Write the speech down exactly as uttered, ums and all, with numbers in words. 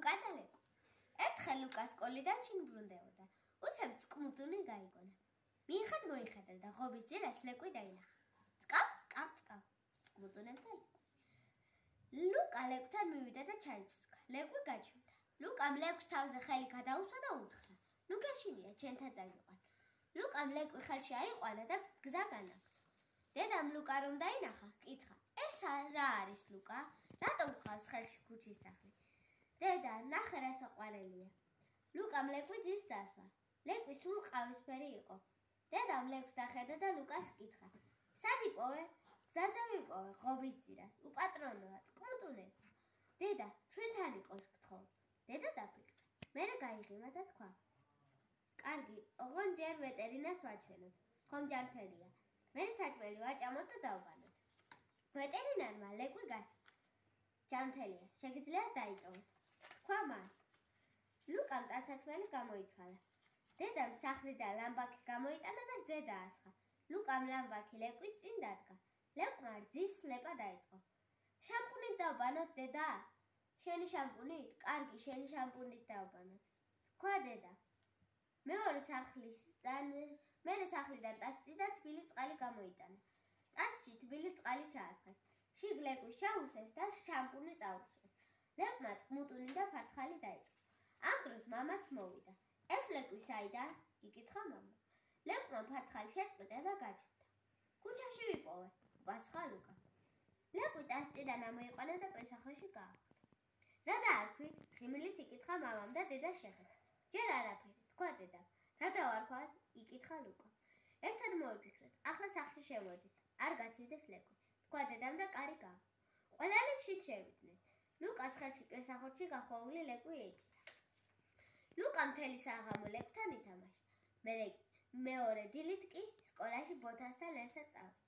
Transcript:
ლუკა და ლეკვი. ერთხელ ლუკა სკოლიდან შინ ბრუნდებოდა. უცებ წყმუდუნი გაიგონა. მიიხად მოიხადა და ღობის ძირას ლეკვი დაინახა. წკავ, წკავ, წკავ. წყმუდუნებდა ლეკვი. ლუკა ლეკვთან მივიდა და ჩაიცუცქა. ლეკვი გაჩვენდა. ლუკამ ლეკვს თავზე ხელი გადაუსვა და უთხრა: ნუ გაშინია, ჩემთან წაიყვან. ლუკამ ლეკვი ხელში აიყვანა და გზა განაგრძო. დედამ ლუკა რომ დაინახა, კითხა: ეს რა არის ლუკა? რატომ ხავს ხელში ქუჩის სახლი? დედა, ნახე რა საყვარელია. ლუკამ ლეკვი ძირს დასვა. ლეკვი სულ ყავისფერი იყო. დედამ ლეკვს დახედა და ლუკას კითხა: სად იპოვე? გზაზე ვიპოვე, ღობის ძირას. უპატრონოა, წყმუდუნებდა. დედა, ჩვენთან იყოს გთხოვ. დედა დაფიქრდა. მერე გაიღიმა და თქვა: კარგი, ოღონ ჯერ ვეტერინარს ვაჩვენოთ. ხომ ჯანმრთელია. მერე საჭმელი ვაჭამოთ და დავბანოთ. ვეტერინარმა ლეკვი გასვა. ჯანმრთელია, შეგიძლიათ დაიწოვოთ. თქვა მან. ლუკამ ტანსაცმელი გამოიცვალა. დედამ სახლიდან ლამბაქი გამოიტანა და რძე დაასხა. ლუკამ ლამბაქი ლეკვის წინ დადგა. ლეკვმა რძის სლეპა დაიწყო. შამპუნით დავბანოთ, დედა? შენი შამპუნით? კარგი, შენი შამპუნით დავბანოთ. თქვა დედა. მეორე სახლიდან, მერე სახლიდან ტასში და თბილი წყალი გამოიტანა. ტასში თბილი წყალი ჩაასხეს. შიგ ლეკვი შეუსეს და შამპუნი წაუშვეს. ლეკვმა წყმუდუნი და ფართხალი დაიწყო. ამ დროს მამაც მოვიდა. ეს ლეკვი საიდან? იკითხა მამა. ლეკვმა ფართხალი შეწყვიტა და გაჩნდა. ქუჩაში ვიპოვე, პასუხა ლუკა. ლეკვი ტასიდან ამოიყვანა და პესახოში გაახვდა. რა დაარქვით? ღიმილით იკითხა მამამ და დედას შეხედა. ჯერ არაფერი, თქვა დედამ. რა დავარქვათ? იკითხა ლუკა. ერთად მოვიფიქრეთ, ახლა სახლში შევოდით. არ გაცივდეს ლეკვი, თქვა დედამ და კარი გააღო. ყველანი შით შევიდნენ. ლუკას ხელში პესახოში გახვეული ლეკვი ეჭირა. ლუკა მთელი საღამო ლეკვთან ითამაშა. მეორე დილით კი სკოლაში ბოთასთან ერთად წავიდა.